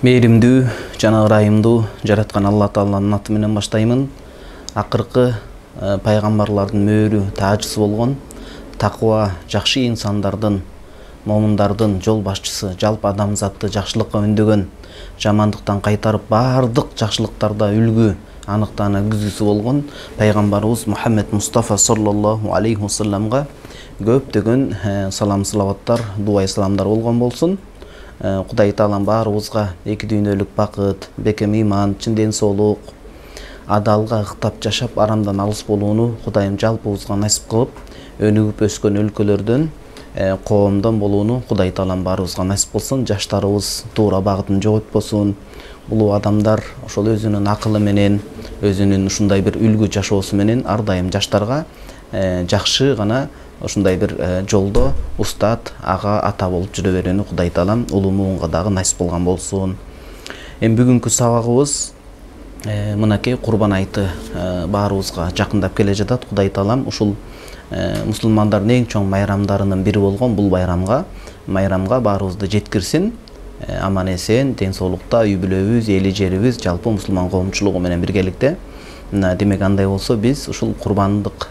Мээримдүү жана ырайымдуу жараткан Алла Тааланын аты менен баштаймын. Акыркы пайгамбарлардын мөөрү таажысы болгон таква жакшы инсандардын, момундардын жол башчысы, жалпы адамзатты жакшылыкка үндөгөн, жамандыктан кайтарып баардык жакшылыктарда үлгү, аныктана күзгүсү болгон пайгамбарыбыз Мухаммед Мустафа саллаллаху алейхи вассаламга көптөгөн салам салаваттар, дуа саламдар болгон болсун. Кудай Таалам баарыбызга эки дүйнөлүк бакыт, бекем ыйман, чын ден соолук, адалга ыктап жашап, арамдан алыс болууну Кудайым жалпыбызга насип кылып, өнүгүп өскөн өлкөлөрдөн, коомдон болууну Кудай Таалам баарыбызга насип кылсын. Жаштарыбыз туура багытын жоготпосун. Улуу адамдар ошол өзүнүн акылы менен, өзүнүн ушундай бир үлгү жашоосу менен ар дайым жаштарга жакшы гана ушундай бир жолдо устат, ага, ата болуп жүрө берүүнү Кудай Таалам улуу муунга дагы насип кылган болсун. Эми бүгүнкү сабагыбыз мынакей Курбан айты баарыбызга жакындап келе жатат. Кудай Таалам ушул мусулмандардын эң чоң майрамдарынын бири болгон бул майрамга баарыбызды жеткирсин. Аман эсен, ден соолукта үй бүлөбүз, эли жерибиз, жалпы мусулман коомчулугу менен биргеликте. Демек андай болсо биз ушул курбандык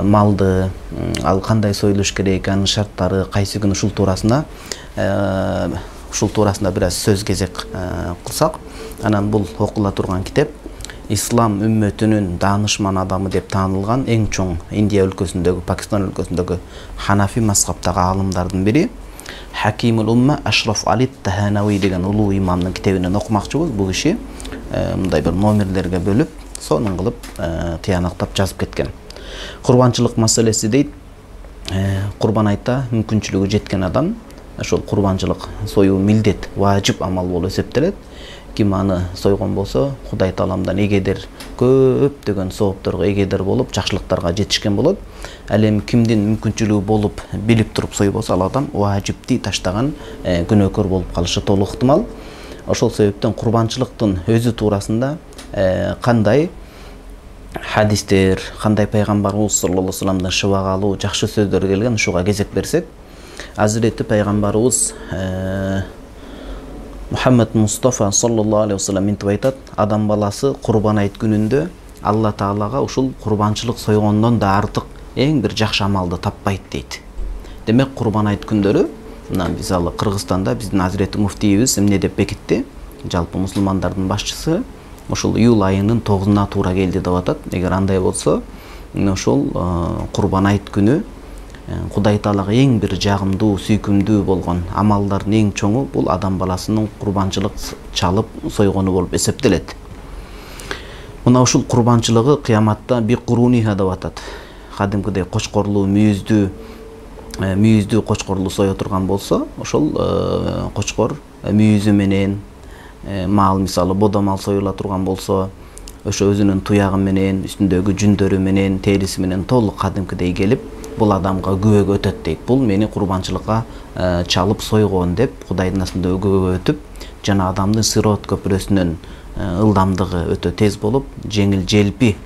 малды ал кандай союлуш керек, анын шарттары кайсы күн ушул туурасында бир аз сөз кезек кылсак, анан бул окула турган китеп ислам үммөтүнүн даанышман адамы деп таанылган эң чоң Индия өлкөсүндөгү, Пакистан өлкөсүндөгү ханафи мазхабтагы аалымдардын бири Хакимул Умма Ашраф Али Таханауи деген улуу имамдын китебинен окумакчыбыз. Бул киши мындай бир номерлерге бөлүп, сонун кылып тыянактап жазып кеткен. Курбанчылык маселеси дейт. Курбан айта мүмкүнчүлүгү жеткен адам ошол курбанчылык союу милдет, важип амал болуп эсептелет. Ким аны сойгон болсо, Кудай Тааламдан эгедер көптөгөн соопторго эгедер болуп, жакшылыктарга жетишкен болот. Ал эми кимдин мүмкүнчүлүгү болуп, билип туруп сойбосо, ал адам важипти таштаган, күнөөкөр болуп калышы толук ыктымал. Ошол себептен курбанчылыктын өзү туурасында кандай хадистер, кандай пайгамбарыбыз саллаллаху алейхи вассаламдан шыбагалуу жакшы сөздөр келген, ушуга кезек берсек, Азирети пайгамбарыбыз Мухаммед Мустафа саллаллаху алейхи вассалам мынтип айтат: адам баласы Курбан айт күнүндө Алла Таалага ушул курбанчылык сойгондон да артык эң бир жакшы амалды таппайт дейт. Демек Курбан айт күндөрү, мына биз ал Кыргызстанда биздин Азирети муфтийибиз эмне деп бекитти? Жалпы мусулмандардын башчысы ушул июль айынын 9-уна туура келди деп атат. Эгер андай болсо, ошол Курбан айт күнү Кудай Таалага эң бир жагымдуу, сүйкүмдүү болгон амалдардын эң чоңу бул адам баласынын курбанчылык чалып сойгону болуп эсептелет. Мына ушул курбанчылыгы кыяматта би куруниха деп атат. Кадимкидей кочкорлуу мүйүздүү кочкорлу сое турган болсо, ошол кочкор мүйүзү менен мал, мисалы бодомал союла турган болсо, ошо өзүнүн туягы менен, үстүндөгү жүндөрү менен, териси менен толук кадимкидей келип, бул адамга күбөгө өтөт дейт. Бул мени курбанчылыкка чалып сойгон деп Кудайдын астында күбөгө өтүп, жана адамдын сирот көпүрөсүнөн ылдамдыгы өтө тез болуп, жеңил желпи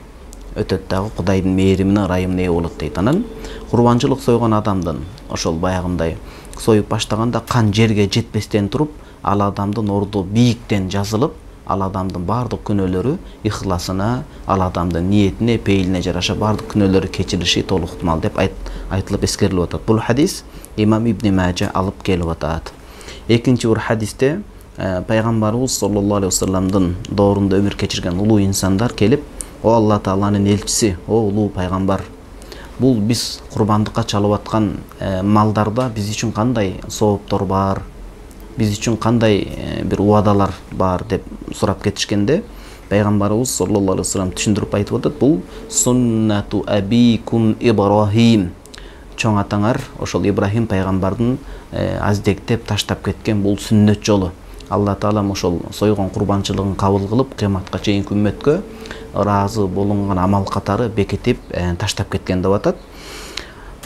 өтөт дагы Кудайдын мээримине, ырайымына ээ болот дейт. Анан курбанчылык сойгон адамдын ошол баягындай союп баштаганда кан жерге жетпестен туруп, ал адамдын орду бийиктен жазылып, ал адамдын бардык күнөөлөрү ихласына, ал адамдын ниетине, пейилине жараша бардык күнөөлөрү кечирилиши толук ыктымал деп айтылып эскерилип атат. Бул хадис Имам Ибн Мажа алып келип атат. Экинчи бир хадисте пайгамбарыбыз саллаллаху алейхи вассаламдын доорунда өмүр кечирген улуу инсандар келип: "О Алла Тааланын элчиси, о улуу пайгамбар, бул биз курбандыкка чалып аткан малдарда биз үчүн кандай сооптор бар? Биз үчүн кандай бир убадалар бар?" деп сурап кетишкенде, пайгамбарыбыз саллаллаху алейхи вассалам түшүндүрүп айтып атат: "Бул суннату абикум Ибрахим. Чоң атаңар ошол Ибрахим пайгамбардын аздектеп таштап кеткен бул сүннөт жолу. Алла Таалам ошол сойгон курбанчылыгын кабыл кылып, кыяматка чейинки үммөткө ыраазы болунган амал катары бекитип таштап кеткен" деп атат.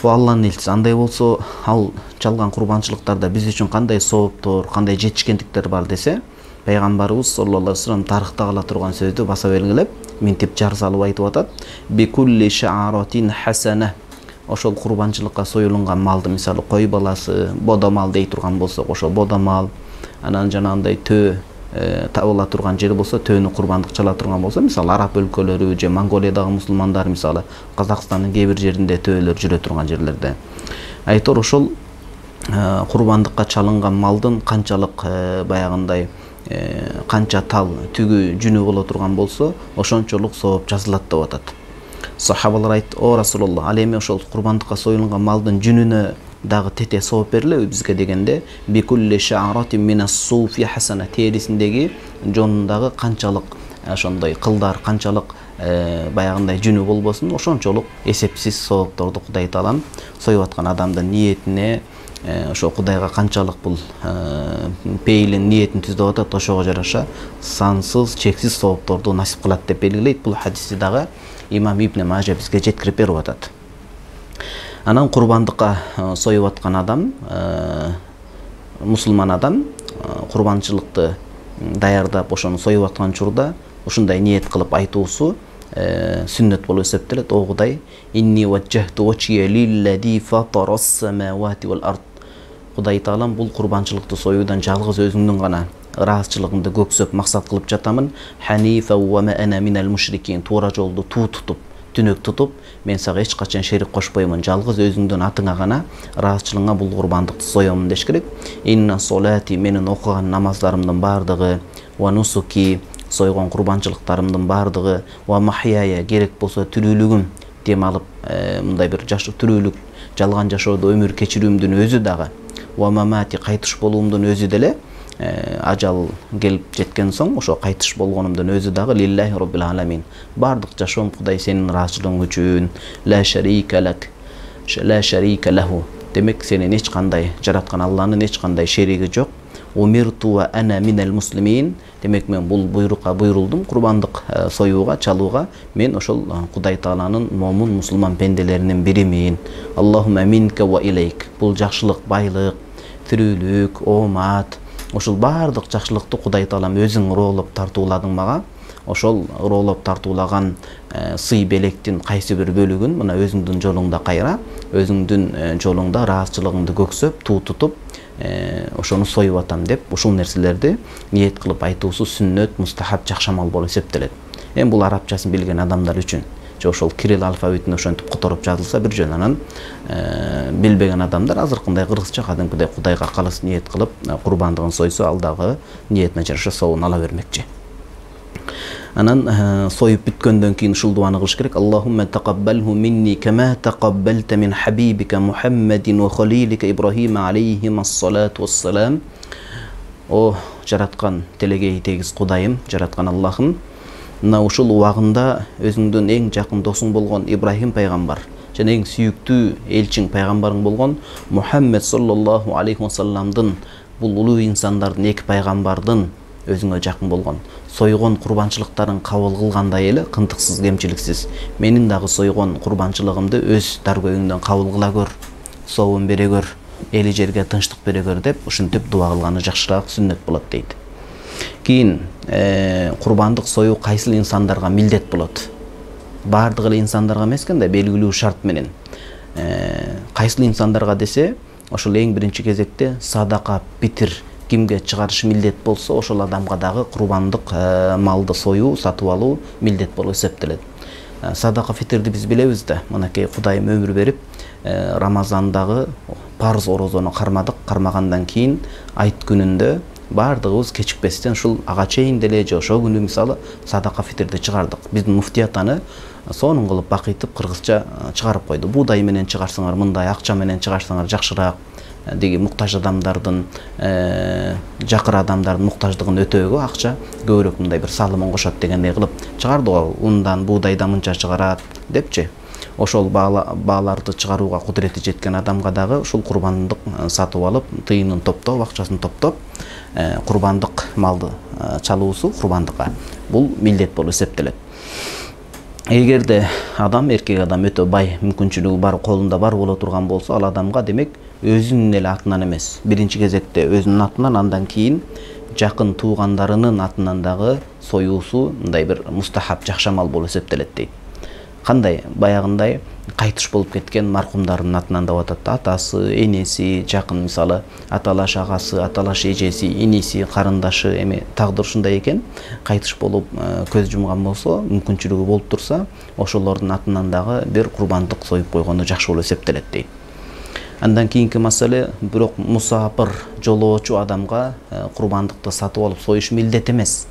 Бул Алланын элчиси. Андай болсо, ал чалган курбанчылыктарда биз үчүн кандай сооптор, кандай жетишкендиктер бар десе, пайгамбарыбыз саллаллаху алейхи вассалам тарыхта кала турган сөздү баса белгилеп, мынтип жар салып айтып атат: "Бикулли ша'аратин хасана ошол курбанчылыкка союлунган малды мисалы кой баласы, бодо мал дей турган болсок, ошол бодо мал, анан жанагындай төө табыла турган жер болсо, төөнү курбандык чала турган болсо, мисалы араб өлкөлөрү же Монголиядагы мусулмандар, мисалы Казакстандын кээ бир жеринде төөлөр жүрө турган жерлерде. Айтор ошол курбандыкка чалынган малдын канчалык баягындай канча тал түгү жүнү боло турган болсо, ошончолук сооп жазылат деп атат. Сахабалар айтты: "О Расулуллах, ал эми ошол курбандыкка союлган малдын жүнүнө дагы тете сооп берилеби бизге?" дегенде, "Бикулли ша'ратин минас-суфи хасана", терисиндеги жонундагы канчалык ошондой кылдар, канчалык баягындай жүнү болбосун, ошончолук эсепсиз соопторду Кудай Таалам союп аткан адамдын ниетине, ошо Кудайга канчалык бул пейилин ниетин түздөп атат, ошого жараша сансыз, чексиз соопторду насип кылат деп белгилейт. Бул хадисти дагы имам Ибн Мажа бизге жеткирип берип атат. Анан курбандыкка союп аткан адам, мусулман адам курбанчылыкты даярдап ошону союп аткан учурда ушундай ниет кылып айтуусу сүннөт болуп эсептелет. О Кудай, инни ваджахту вачия лиллади фатарас-самавати вал ард. Кудай Таалам бул курбанчылыкты союудан жалгыз өзүңдүн гана ыраазычылыгыңды көксөп максат кылып жатамын. Ханифа ва ма ана минал мушрикин. Туура жолду тутуп, түнөк тутуп, мен сага эч качан шерик кошпоймун. Жалгыз өзүңдүн атыңа гана ыраазычылыгыңа бул курбандыкты соёмун деш керек. Инна солати, менин окуган намаздарымдын бардыгы, ва нусуки, сойгон курбанчылыктарымдын бардыгы, ва махияя, керек болсо тирүүлүгүм, дем алып мындай бир жаш тирүүлүк, жалган жашоодо өмүр кечирүүмдүн өзү дагы, ва мамати, кайтыш болуумдун өзү деле, ажал келип жеткен соң ошо кайтыш болгонумдун өзү дагы лиллахи роббил аламин. Бардык жашоом Кудай сенин ыраазычылыгың үчүн. Ла шарика лак, ла шарика лаху. Демек сенин эч кандай жараткан Алланын эч кандай шериги жок. Умирту ва ана минал муслимин. Демек мен бул буйрукка буйрулдум, курбандык союуга, чалууга. Мен ошол Кудай Тааланын момун мусулман пенделеринин биримин. Аллахумма минка ва илейк. Бул жакшылык, байлык, тирүүлүк, оомат, ошол бардык жакшылыкты Кудай Таалам өзүң ыроолоп тартууладың мага. Ошол ыроолоп тартуулаган сый белектин кайсы бир бөлүгүн мына өзүңдүн жолуңда кайра, өзүңдүн жолуңда ыраазычылыгыңды көксөп, тутуп, ошону союп атам деп, ушул нерселерди ниет кылып айтуусу сүннөт, мустахаб, жакшы амал болуп эсептелет. Эми бул арабчасын билген адамдар үчүн, же ошол кирилл алфавитин ошентип которуп жазылса бир жөн, анан билбеген адамдар азыркындай кыргызча кадимкидей Кудайга калыс ниет кылып курбандыгын сойсо, ал дагы ниетине жараша соовун ала бермекчи. Анан союп бүткөндөн кийин ушул дуаны кылыш керек. Аллахумма тaqabbalhu minni kama taqabbalta min habibika Muhammadin wa khalilika Ibrahim alayhimassalatu wassalam. О жараткан телегей тегиз Кудайым, жараткан Аллахым, мына ушул убагында өзүңдүн эң жакын досуң болгон Ибрахим пайгамбар жана эң сүйүктүү элчиң пайгамбарың болгон Мухаммед саллаллаху алейхи вассаламдын, бул улуу инсандардын, эки пайгамбардын өзүңө жакын болгон сойгон курбанчылыктарын кабыл кылгандай эле кынтыксыз, кемчиликсиз менин дагы сойгон курбанчылыгымды өз даргөйүңдөн кабыл кыла көр, соовун бере көр, эли жерге тынчтык бере көр деп ушинтип дуа кылганы жакшыраак, сүннөт болот дейт. Кийин курбандык союу кайсыл инсандарга милдет болот? Бардык эле инсандарга эмес экен да, белгилүү шарт менен. Кайсыл инсандарга десе, ошол эң биринчи кезекте садака, питир кимге чыгарыш милдет болсо, ошол адамга дагы курбандык малды союу, сатып алуу милдет болуп эсептелет. Садака, фитрди биз билебиз да. Мынакей Кудайым өмүр берип, Рамазандагы парыз орозону кармадык. Кармагандан кийин айт күнүндө бардыгыбыз кечикпестен ушул ага чейин деле же ошол күнү мисалы садака фитрди чыгардык. Биздин муфтият аны сонун кылып бакыйтып кыргызча чыгарып койду. Буудай менен чыгарсаңар мындай, акча менен чыгарсаңар жакшыраак, деги муктаж адамдардын, жакыр адамдардын муктаждыгын өтөөгө акча көбүрөөк мындай бир салымын кошот дегендей кылып чыгарды го. Ундан, буудайдан мынча чыгарат депчи. Ошол бааларды чыгарууга кудурети жеткен адамга дагы ушул курбандык сатып алып, тыйынын топтоп, акчасын топтоп, курбандык малды чалуусу курбандыкка бул милдет болуп эсептелет. Эгерде адам, эркек адам өтө бай, мүмкүнчүлүгү бар, колунда бар боло турган болсо, ал адамга демек өзүнүн эле атынан эмес, биринчи кезекте өзүнүн атынан, андан кийин жакын туугандарынын атынан дагы союусу мындай бир мустахаб, жакшы амал болуп эсептелет дейт. кандай баягындай кайтыш болуп кеткен маркумдардын атынан деп атат да, атасы, энеси, жакын мисалы аталаш агасы, аталаш эжеси, иниси, карындашы, эми тагдыр ушундай экен, кайтыш болуп көз жумган болсо, мүмкүнчүлүгү болуп турса, ошолордун атынан дагы бир курбандык союп койгону жакшы болуп эсептелет дейт. Андан кийинки маселе, бирок мусафир жолоочу адамга курбандыкты сатып алып союш милдет эмес.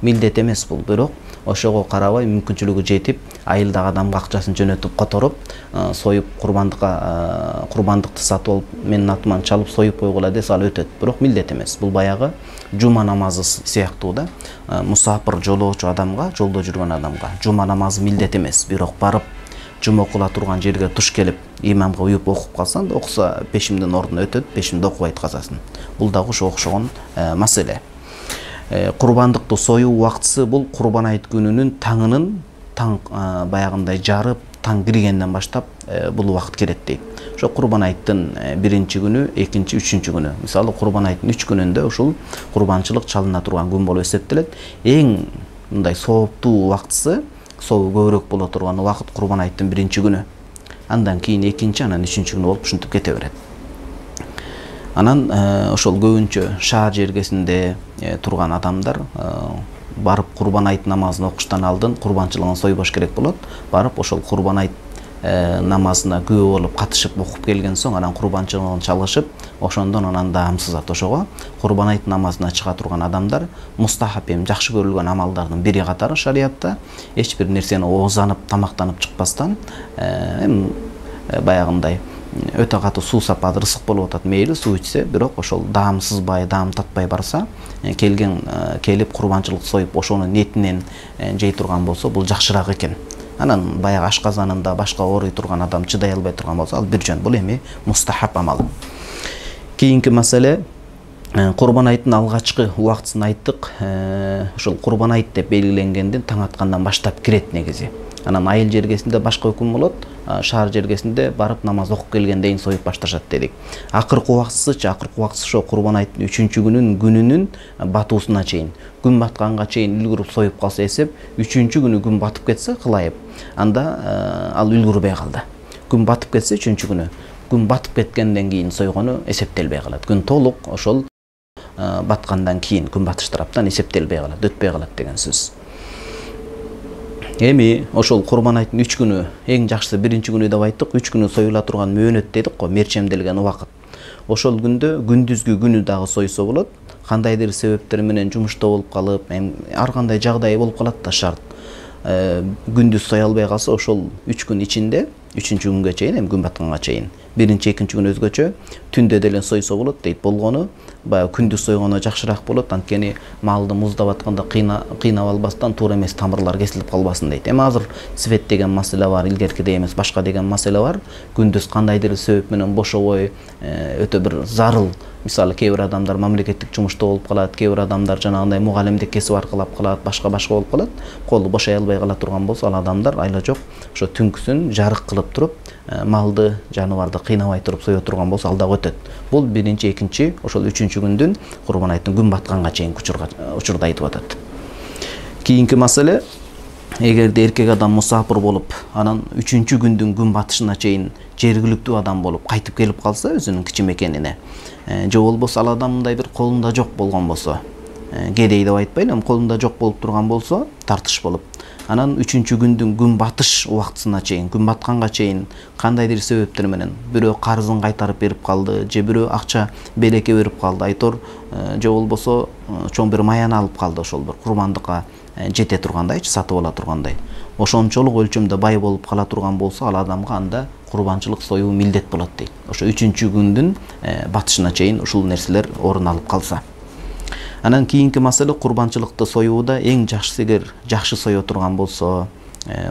Милдет эмес бул, бирок ошого карабай мүмкүнчүлүгү жетип, айылдагы адамга акчасын жөнөтүп которуп, союп курбандыкты сатып алып, менин атыман чалып союп койгула десе ал өтөт. Бирок милдет эмес. Бул баягы жума намазы сыяктуу да. Мусафир жолоочу адамга, жолдо жүргөн адамга жума намазы милдет эмес. Бирок барып жума окула турган жерге туш келип, имамга уюп окуп калсаң да, окуса пешимдин ордуна өтөт, пешимди окубайт казасын. Бул дагы ошого окшогон маселе. Курбандыкты союу убактысы бул Курбан айт күнүнүн таң баягындай жарып, таң киргенден баштап бул убакыт келет дейт. Ошо Курбан айттын 1-чи күнү, 2-чи, 3-чү күнү. Мисалы Курбан айттын 3 күнүндө ушул курбанчылык чалына турган күн болуп эсептелет. Эң мындай сооптуу убактысы, сообу көбүрөөк боло турган убакыт Курбан айттын 1-чи күнү. Андан кийин 2-чи, анан 3-чү күнү болуп ушинтип кете берет. Анан ошол көбүнчө шаар жергесинде турган адамдар барып Курбан айт намазын окуштан алдын курбанчылыгын сойбош керек болот. Барып ошол Курбан айт намазына күбө болуп катышып окуп келген соң, анан курбанчылыгын чалышып, ошондон анан даамсызат. Ошого Курбан айт намазына чыга турган адамдар мустахап, жакшы көрүлгөн амалдардын бири катары шариятта эч бир нерсени оозанып, тамактанып чыкпастан, баягындай өтө катуу суу сапат ырсык болуп атат, мейли суу ичсе, бирок ошол даамсызбай, даам татпай барса, келип курбанчылык союп ошонун нетинен жей турган болсо, бул жакшыраак экен. Анан баягы ашказанында башка ооруй турган адам чыдай албай турган болсо, ал бир жөн. Бул эми мустахап амал. Кийинки маселе, Курбан айттын алгачкы убактысын айттык. Ошол Курбан айт деп белгиленгенден таң аткандан баштап кирет негизи. Анан айыл жергесинде башка өкүм болот, шаар жергесинде барып намаз окуп келгенден союп башташат дедик. Акыркы убактысычы, акыркы убактысы ошо Курбан айттын 3-чү күнүнүн батуусуна чейин. Күн батканга чейин үлгүрүп союп калса эсеп, 3-чү күнү күн батып кетсе кылайып, анда ал үлгүрбөй калды. Күн батып кетсе 3-чү күнү, күн батып кеткенден кийин сойгону эсептелбей калат. Күн толук ошол баткандан кийин, күн батыш тараптан эсептелбей калат, өтпөй калат деген сөз. Эми ошол Курбан айттын 3 күнү, эң жакшысы 1-чи күнү деп айттык, 3 күнү союла турган мөөнөт дедик го, мерчемделген убакыт. Ошол күндө күндүзгү күнү дагы сойсо болот. Кандайдыр себептер менен жумушта болуп калып, ар кандай жагдай болуп калат да шарт. Күндүз сой албай калса, ошол 3 күн ичинде, 3-чү күнгө чейин, күн батканга чейин, 1-чи, 2-чи күн өзгөчө, түндө деле сойсо болот дейт. Болгону баягы күндүз сойгону жакшыраак болот, анткени малды муздап атканда кыйнап албастан, туура эмес тамырлар кесилип калбасын дейт. Эми азыр свет деген маселе бар, илгеркидей эмес, башка деген маселе бар. Күндүз кандайдыр себеп менен бошобой, өтө бир зарыл, мисалы кээ бир адамдар мамлекеттик жумушта болуп калат, кээ бир адамдар жанагындай мугалимдик кесип аркылап калат, башка болуп калат. Колу бошой албай кала турган болсо, ал адамдар айла жок ошо түнкүсүн жарык кылып туруп, малды, жаныбарды кыйнабай туруп сое турган болсо, ал дагы өтөт. Бул 1-чи, 2-чи, ошол 3-чү күндүн Курбан айттын күн батканга чейин учурда айтып атат. Кийинки маселе, эгерде эркек адам мусафир болуп, анан 3-чү күндүн күн батышына чейин жергиликтүү адам болуп кайтып келип калса өзүнүн кичи мекенине, же болбосо ал адамдай бир колунда жок болгон болсо, кедей деп айтпайм, колунда жок болуп турган болсо, тартыш болуп, анан 3-чү күндүн күн батыш убактысына чейин, күн батканга чейин кандайдыр себептер менен бирөө карызын кайтарып берип калды, же бирөө акча белекке берип калды, айтор, же болбосо чоң бир маяны алып калды, ошол бир курбандыкка жете тургандайчы, сатып ала тургандай. Ошончолук өлчөмдө бай болуп кала турган болсо, ал адамга анда курбанчылык союу милдет болот дейт. Ошо 3-чү күндүн батышына чейин ушул нерселер орун алып калса. Анан кийинки маселе, курбанчылыкты союуда эң жакшысы, эгер жакшы сое турган болсо,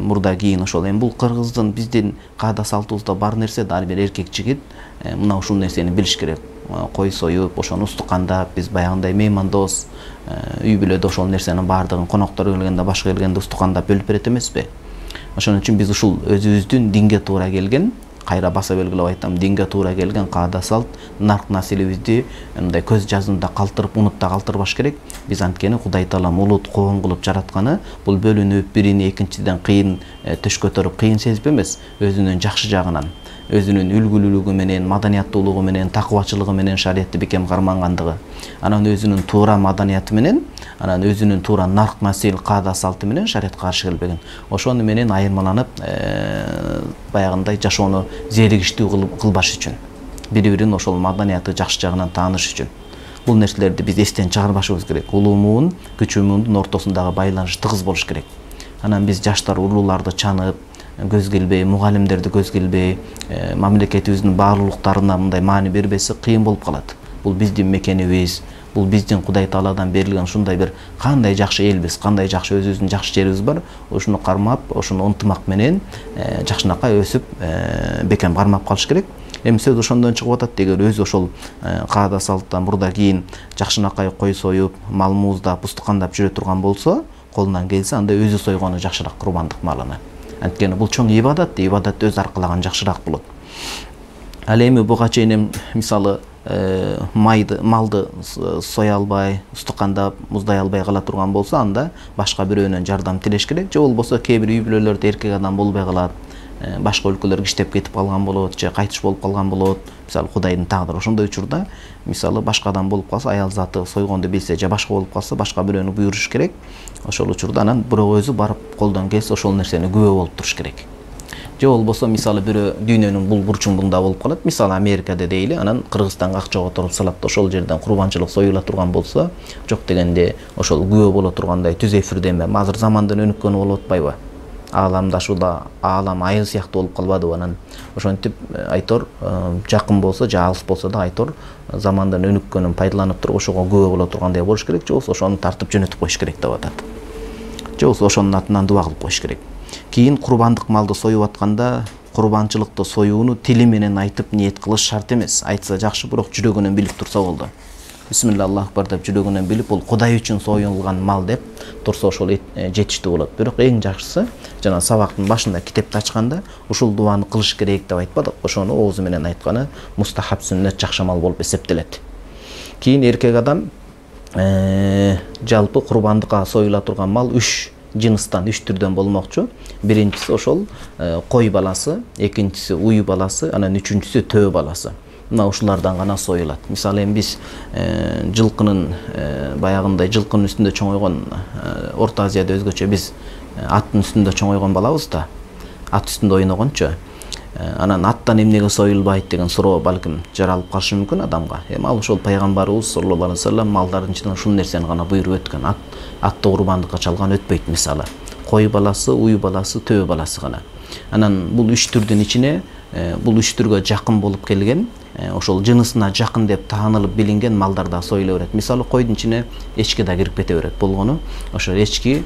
мурда кийин ошол эми бул кыргыздын, биздин каада салтыбызда бар нерсе да, ар бир эркек жигит мына ушул нерсени билиш керек. Кой союп, ошону устукандап, биз баягындай меймандос, үй бүлөдө ошол нерсенин баардыгын коноктор келгенде, башка келгенде устукандап бөлүп берет эмеспи? Ошон үчүн биз ушул өзүбүздүн динге туура келген кайра баса белгилеп айтам, динге туура келген каада салт, нарк населибизди мындай көз жазында калтырып, унутта калтырбаш керек. Биз анткени Кудай Таалам улут коом кылып жаратканы бул бөлүнүп, бирини экинчиден кыйын төш көтөрүп кыйын сезип эмес, өзүнүн жакшы жагынан, өзүнүн үлгүлүүлүгү менен, маданияттуулугу менен, такыбачылыгы менен шариятты бекем кармангандыгы, анан өзүнүн туура маданияты менен, анан өзүнүн туура нарк насил каада салты менен шариятка каршы келбеген. Ошону менен айырмаланып, баягындай жашоону зээригиштүү кылбаш үчүн, бири-бирин ошол маданияты жакшы жагынан тааныш үчүн. Бул нерселерди биз эстен чыгарбашыбыз керек. Улуу муун, кичүү муундун ортосундагы байланыш тыгыз болуш керек. Анан биз жаштар улууларды чанып, көз келбей, мугалимдерди көз келбей, мамлекетибиздин баалуулуктарына мындай маани бербесе кыйын болуп калат. Бул биздин мекенибиз, бул биздин Кудай Тааладан берилген ушундай бир кандай жакшы элбиз, кандай жакшы өзүбүздүн жакшы жерибиз бар. Ошону кармап, ошону ынтымак менен жакшынакай өсүп, бекем кармап калыш керек. Эми сөз ошондон чыгып атат. Эгер өзү ошол каада салттан мурда кийин жакшынакай кой союп, мал мууздап, устукандап жүрө турган болсо, колунан келсе, анда өзү сойгону жакшыраак курбандык малына. Анткени бул чоң ибадат, ибадатты өз аркалаган жакшыраак болот. Ал эми буга чейин мисалы малды соя албай, устукандап, муздай албай кала турган болсо, анда башка бирөөнөн жардам тилеш керек. Же болбосо кээ бир үй бүлөлөрдө эркек адам болбой калат, башка өлкөлөргө иштеп кетип калган болот, же кайтыш болуп калган болот. Мисалы Кудайдын тагдыры. Ошондой учурда мисалы башка адам болуп калса, аял заты сойгонду билсе, же башка болуп калса, башка бирөөнү буйруш керек. Ошол учурда анан бирок өзү барып колдон келсе ошол нерсени күбө болуп туруш керек. Же болбосо мисалы бирөө дүйнөнүн бул бурчуңдугунда болуп калат. Мисалы Америкада дейли, анан Кыргызстанга акча которуп салат, ошол жерден курбанчылык союла турган болсо, жок дегенде ошол күбө боло тургандай түз эфирде эме, азыр замандын өнүккөнү болуп атпайбы? Ааламдашууда аалам айыл сыяктуу болуп калбадыбы? Анан ошентип айтор, жакын болсо же алыс болсо да айтор, замандан өнүккөнүн пайдаланып туруп ошого күбө боло тургандай болуш керек. Же болбосо ошону тартып жөнөтүп коюш керек деп атат. Же болбосо ошонун атынан дуба кылып коюш керек. Кийин курбандык малды союп атканда, курбанчылыкты союуну тили менен айтып ниет кылыш шарт эмес. Айтса жакшы, бирок жүрөгүнөн билип турса болду. Бисмилла Аллаху акбар деп жүрөгүнөн билип, бул Кудай үчүн союлган мал деп турса ошол жетиштүү болот. Бирок эң жакшысы, жана сабактын башында китепти ачканда ушул дубаны кылыш керек деп айтпадык. Ошону оозу менен айтканы мустахаб сүннет жакшы амал болуп эсептелет. Кийин эркек адам жалпы курбандыкка союла турган мал 3 жыныстан, 3 түрдөн болмокчу. Биринчиси ошол кой баласы, экинчиси уй баласы, анан үчүнчүсү төө баласы. Мына ушулардан гана союлат. Мисалы эми биз жылкынын баягындай жылкынын үстүндө чоңойгон, Орто Азияда өзгөчө биз аттын үстүндө чоңойгон балабыз да, ат үстүндө ойногончу. Анан аттан эмнеге союлбайт деген суроо балким жаралып калышы мүмкүн адамга. Эми ал ошол пайгамбарыбыз саллаллаху алейхи вассалам малдардын ичинен ушул нерсени гана буйруп өткөн. Атты курбандыкка чалган өтпөйт мисалы. Кой баласы, уй баласы, төө баласы гана. Анан бул 3 түрдүн ичине бул 3 түргө жакын болуп келген, ошол жынысына жакын деп таанылып билинген малдар да союла берет. Мисалы койдун ичине эчки да кирип кете берет. Болгону ошол эчки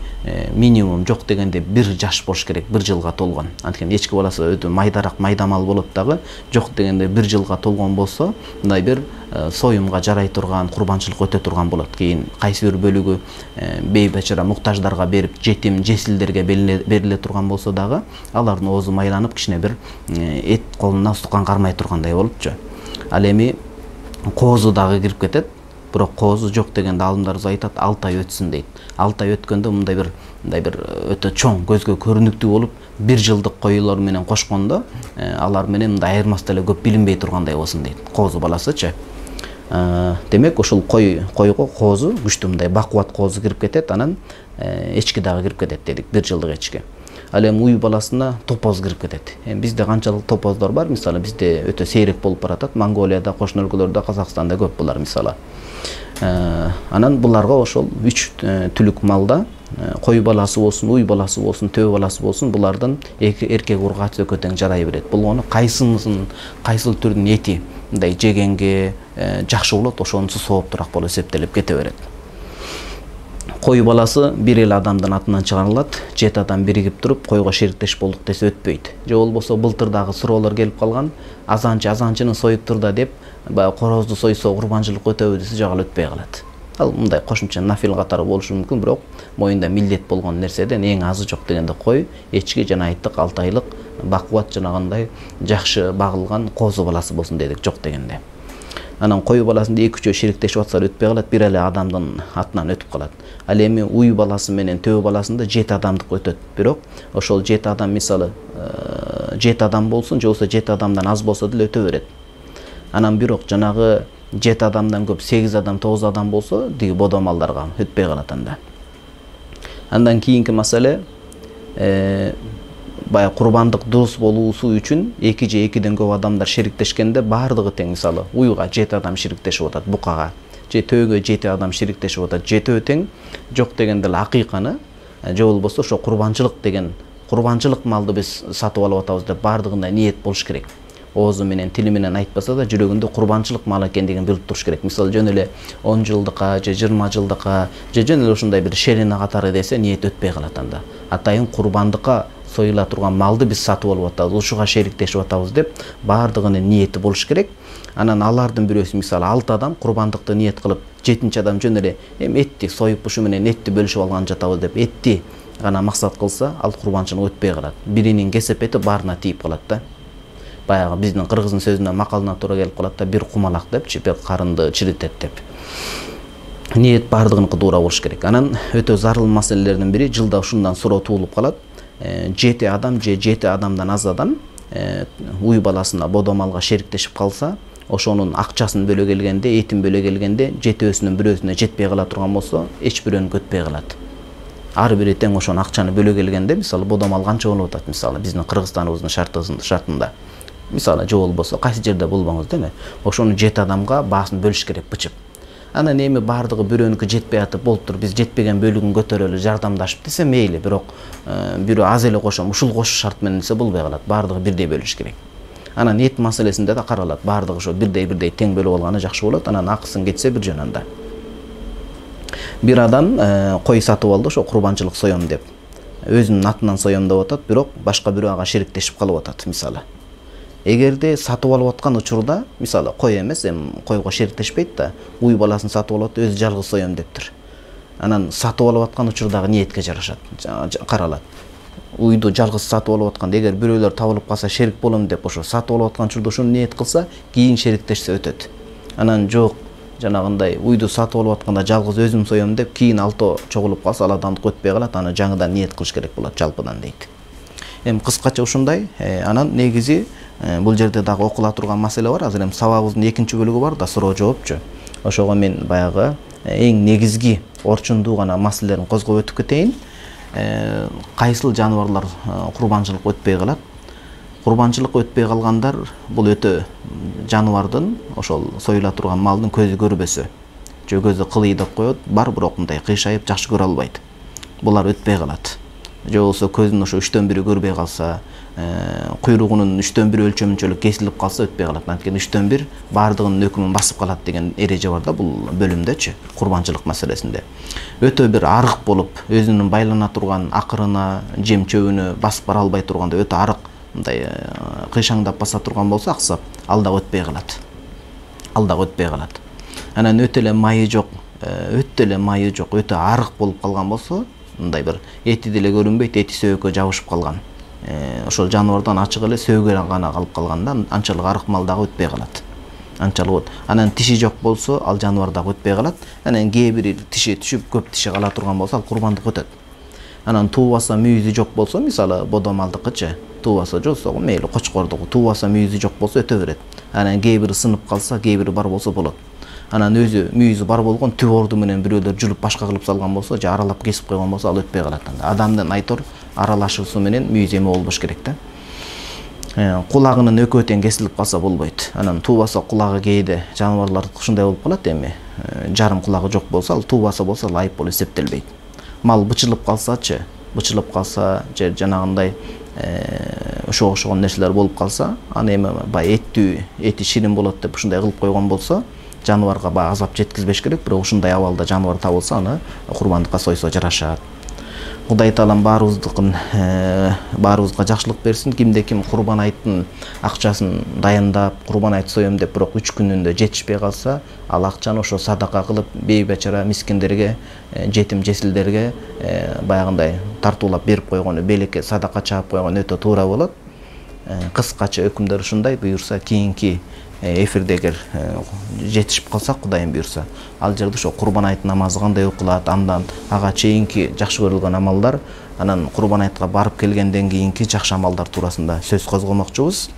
минимум жок дегенде 1 жаш болуш керек, 1 жылга толгон. Анткени эчки баласы өтө майдарак, майдамал болот дагы, жок дегенде 1 жылга толгон болсо, мындай бир союмга жарай турган, курбанчылык өтө турган болот. Кийин кайсы бир бөлүгү бейбечара муктаждарга берип, жетим, жесилдерге бериле турган болсо дагы, алардын оозу майланып, кичине бир эт колуна устукан кармай тургандай болупчу. Ал эми коозу дагы кирип кетет. Бирок коозу жок дегенде алымдарыбыз айтат, 6 ай өтсүн дейт. 6 ай өткөндө мындай бир өтө чоң, көзгө көрүнүктүү болуп, 1 жылдык койлор менен кошкондо, алар менен мындай айырмасы деле көп билинбей тургандай болсун дейт. Коозу баласычы. Демек ошол койго коозу күчтүү мындай бакубат коозу кирип кетет, анан эчки дагы кирип кетет дедик, 1 жылдык эчки. Ал эми уй баласына топоз кирип кетет. Бизде канчалык топоздор бар? Мисалы бизде өтө сейрек болуп баратат. Монголияда, кошуна өлкөлөрдө, Казакстанда көп булар мисалы. Анан буларга ошол 3 түлүк малда кой баласы болсун, уй баласы болсун, төө баласы болсун, булардын эркек ургач өкө тең жарай берет. Болгону кайсыл түрдүн эти мындай жегенге жакшы болот, ошонусу сооптураак болуп эсептелип кете берет. Кой баласы бир эле адамдын атынан чыгарылат, 7 адам биригип туруп койго шериктеш болдук десе өтпөйт. Же болбосо былтырдагы суроолор келип калган, азанчынын союп турда деп, баягы корозду сойсо курбанчылык өтөбү десе жагал өтпөй калат. Ал мындай кошумча нафил катары болушу мүмкүн, бирок моюнда милдет болгон нерседен эң азы жок дегенде кой, эчки жана айттык 6 айлык бакубат жанагындай жакшы багылган козу баласы болсун дедик, жок дегенде. Анан кою баласында 2-3 шериктешип атса өтпөй калат, бир эле адамдын атынан өтүп калат. Ал эми уй баласы менен төө баласында 7 адамдык өтөт. Бирок ошол 7 адам мисалы 7 адам болсун, же болбосо 7 адамдан аз болсо деле өтө берет. Анан бирок жанагы 7 адамдан көп 8 адам, 9 адам болсо, диги бодомалдарга өтпөй калат анда. Андан кийинки маселе бая курбандык дурус болуусу үчүн 2 же 2ден көп адамдар шериктешкенде бардыгы тең, мисалы уйга 7 адам шериктешип атат, букага же төөгө 7 адам шериктешип атат, жетөө тең, жок дегенде эле акыйканы же болбосо ошо курбанчылык деген курбанчылык малды биз сатып алып атабыз деп бардыгында ниет болуш керек. Оозу менен тили менен айтпаса да жүрөгүндө курбанчылык мал экендигин билип туруш керек. Мисалы жөн эле 10 жылдыкка же 20 жылдыкка же жөн эле ушундай бир шелина катары десе ниет өтпөй калат анда. Атайын курбандыкка союла турган малды биз сатып алып атабыз, ушуга шериктешип атабыз деп бардыгынын ниети болуш керек. Анан алардын бирөөсү мисалы 6 адам курбандыкты ниет кылып, 7-чи адам жөн эле эми этти союп ушу менен этти бөлүшүп алган жатабыз деп этти гана максат кылса, ал курбанчылык өтпөй калат. Биринин кесепети баарына тийип калат да. Баягы биздин кыргыздын сөзүнө макалына туура келип калат да, бир кумалак депчи, бир карынды чиритет деп. Ниет бардыгыныкы туура болуш керек. Анан өтө зарыл маселелердин бири жылда ушундан суроо туулуп калат. 7 адам же 7 адамдан аз адам уй баласына бодомалга шериктешип калса, ошонун акчасын бөлө келгенде, этин бөлө келгенде жетөөсүнүн бирөөсүнө жетпей кала турган болсо, эч бирөөнүкө өтпөй калат. Ар бири тең ошон акчаны бөлө келгенде, мисалы бодомал канча болуп атат, мисалы биздин Кыргызстаныбыздын шартында. Мисалы же болбосо кайсы жерде болбоңуз деме, ошону 7 адамга баасын бөлүш керек бычып. Анан эми бардыгы бирөөнүкү жетпей атып, болуптур, биз жетпеген бөлүгүн көтөрөлү, жардамдашып десе мейли, бирок бирөө аз эле кошом, ушул кошуш шарт менен десе болбой калат. Бардыгы бирдей бөлүш керек. Анан эт маселесинде да каралат. Бардыгы ошо бирдей тең бөлүп алганы жакшы болот. Анан акысын кетсе бир жөн анда. Бир адам кой сатып алды, ошо курбанчылык соём деп. Өзүнүн атынан соём деп атат, бирок башка бирөө ага шериктешип калып атат, мисалы. Эгерде сатып алып аткан учурда, мисалы кой эмес, эми койго шериктешпейт да, уй баласын сатып алып, өзү жалгыз соём дептир. Анан сатып алып аткан учурдагы ниетке жарашат, каралат. Уйду жалгыз сатып алып атканда, эгер бирөөлөр табылып калса шерик болом деп ошо сатып алып аткан учурда ошону ниет кылса, кийин шериктешсе өтөт. Анан жок, жанагындай уйду сатып алып атканда жалгыз өзүм соём деп, кийин алтоо чогулуп калса, ал адамдык өтпөй калат, аны жаңыдан ниет кылыш керек болот жалпыдан дейт. Эми кыскача ушундай, анан негизи бул жерде дагы окула турган маселе бар. Азыр эми сабагыбыздын 2-чи бөлүгү бар да, суроо жоопчу. Ошого мен баягы эң негизги орчундуу гана маселелерин козгоп өтүп кетейин. Кайсыл жаныбарлар курбанчылык өтпөй калат? Курбанчылык өтпөй калгандар бул өтө жаныбардын, ошол союла турган малдын көзү көрбөсө, же көзү кылыйдап коет, бар бирок мындай кыйшайып жакшы көрө албайт. Булар өтпөй калат. Же болбосо көзүнүн ошо 3/1 көрбөй калса, куйругунун 3/1 өлчөмүнчөлүк кесилип калса өтпөй калат. Анткени 3/1 бардыгынын өкүмүн басып калат деген эреже бар да бул бөлүмдөчү, курбанчылык маселесинде. Өтө бир арык болуп, өзүнүн байлана турган акырына, жем чөбүнө басып бара албай турганда, өтө арык, мындай кыйшаңдап баса турган болсо аксап, ал да өтпөй калат. Анан өтө эле майы жок, өтө арык болуп калган болсо, мындай бир эти деле көрүнбөйт, эти сөөгкө жабышып калган. Ошол жаныбардан ачык эле сөөгө гана калып калганда, анчалык арык мал дагы өтпөй калат. Анчалык. Анан тиши жок болсо, ал жаныбар дагы өтпөй калат. Анан кээ бири тиши түшүп, көп тиши кала турган болсо, ал курбандык өтөт. Анан туубаса мүйүзү жок болсо, мисалы бодомалдыкычы, туубаса жоксо, мейли кочкордугу, туубаса мүйүзү жок болсо өтө берет. Анан кээ бири сынып калса, кээ бири бар болсо болот. Анан өзү мүйүзү бар болгон түп орду менен бирөөлөр жүрүп башка кылып салган болсо, же аралап кесип койгон болсо, ал өтпөй калат. Адамдын айтор аралашуусу менен мүйүз эме болбош керек да. Кулагынын экөө тең кесилип калса болбойт. Анан туубаса кулагы кээде жаныбарлар ушундай болуп калат эми. Жарым кулагы жок болсо, ал туубаса болсо айып болуп эсептелбейт. Мал бычылып калса, же жанагындай ошого окшогон нерселер болуп калса, аны эми бай эти ширин болот деп ушундай кылып койгон болсо, жаныбарга азап жеткизбеш керек, бирок ушундай абалда жаныбар табылса, аны курбандыкка сойсо жарашат. Кудай таалам баарыбызга жакшылык берсин. Кимде ким Курбан айттын акчасын даярдап, Курбан айт соем деп, бирок 3 күнүндө жетишпей калса, ал акчаны ошо садака кылып, бейбечара мискиндерге, жетим жесилдерге баягындай тартуулап берип койгону, белекке садака чаап койгону өтө туура болот. Кыскача өкүмдөр ушундай. Буюрса кийинки эфирде эгер жетишип калсак, Кудайым буюрса, ал жерде ошо Курбан айт намазы кандай окулат, андан ага чейинки жакшы көрүлгөн амалдар, анан Курбан айтка барып келгенден кийинки жакшы амалдар туурасында сөз козгомокчубуз.